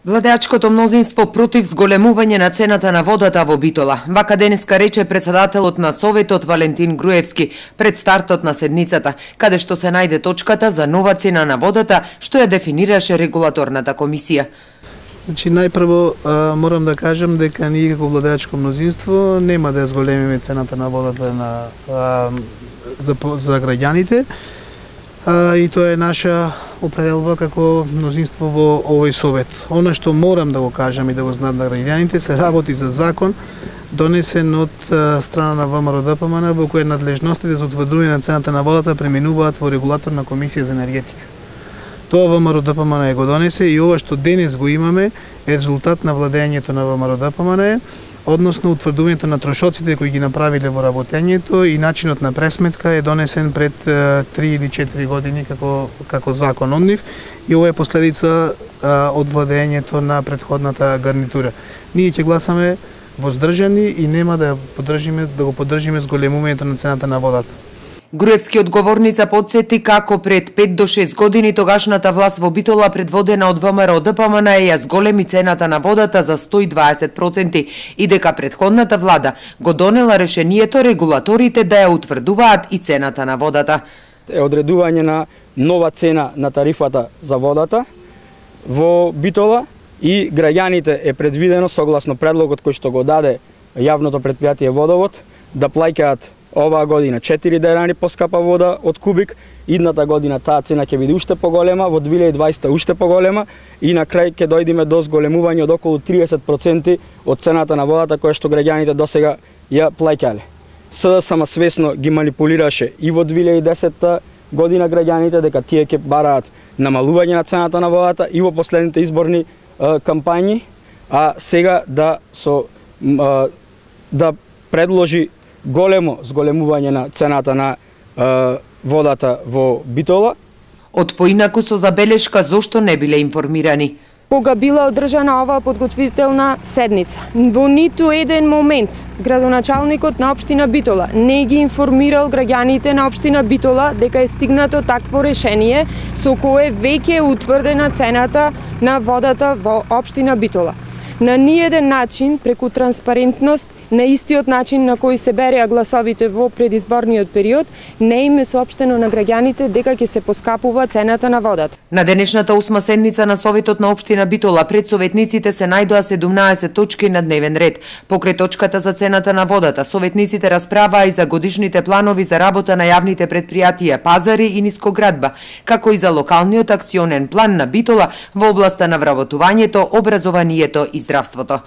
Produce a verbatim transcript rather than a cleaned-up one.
Владеачкото мнозинство против зголемување на цената на водата во Битола. Вака денеска рече председателот на Советот Валентин Груевски пред стартот на седницата, каде што се најде точката за нова цена на водата, што ја дефинираше регулаторната комисија. Значи, најпрво морам да кажам дека ние како владеачко мнозинство нема да ја зголемиме цената на водата на, а, за, за граѓаните. А, и тоа е наша определба како мнозинство во овој совет. Она што морам да го кажам и да го знаат на граѓаните, се работи за закон донесен од страна на ВМРО-ДПМН во кој надлежностите за утврдување на цената на водата преминуваат во регулаторна комисија за енергетика. Тоа ВМРО-ДПМН го донесе и ова што денес го имаме е резултат на владењето на ВМРО-ДПМН, односно утврдувањето на трошоците кои ги направиле во работењето и начинот на пресметка е донесен пред три или четири години како како закон од нив и ова е последица а, од владењето на претходната гарнитура. Ние ќе гласаме воздржани и нема да поддржиме да го поддржиме зголемувањето на цената на водата. Груевски одговорница подсети како пред пет до шест години тогашната власт во Битола предводена од ВМРО-ДПМН ја зголеми цената на водата за сто и дваесет проценти и дека претходната влада го донела решението регулаторите да ја утврдуваат и цената на водата. Е одредување на нова цена на тарифата за водата во Битола и граѓаните е предвидено согласно предлогот кој што го даде јавното претпријатие Водовод да плаќаат оваа година четири денари поскапа вода од кубик, идната година таа цена ќе биде уште поголема, во две илјади и дваесета уште поголема и на крај ќе дојдеме до зголемување од околу триесет проценти од цената на водата која што граѓаните досега ја плаќале. СДСМ свесно ги манипулираше и во две илјади и десета година граѓаните дека тие ќе бараат намалување на цената на водата и во последните изборни е, кампањи, а сега да со е, да предложи големо зголемување на цената на е, водата во Битола. Од поинаку со забелешка зошто не биле информирани. Кога била одржана оваа подготвителна седница, во ниту еден момент градоначалникот на општина Битола не ги информирал граѓаните на општина Битола дека е стигнато такво решение со кое веќе е утврдена цената на водата во општина Битола. На ниеден начин, преку транспарентност, на истиот начин на кој се береа гласовите во предизборниот период, не им е соопштено на граѓаните дека ќе се поскапува цената на водата. На денешната осма седница на Советот на општина Битола пред советниците се најдоа седумнаесет точки на дневен ред. Покрај точката за цената на водата, советниците расправаа и за годишните планови за работа на јавните предпријатија, пазари и нискоградба, како и за локалниот акционен план на Битола во областа на вработувањето, образованието и здравството.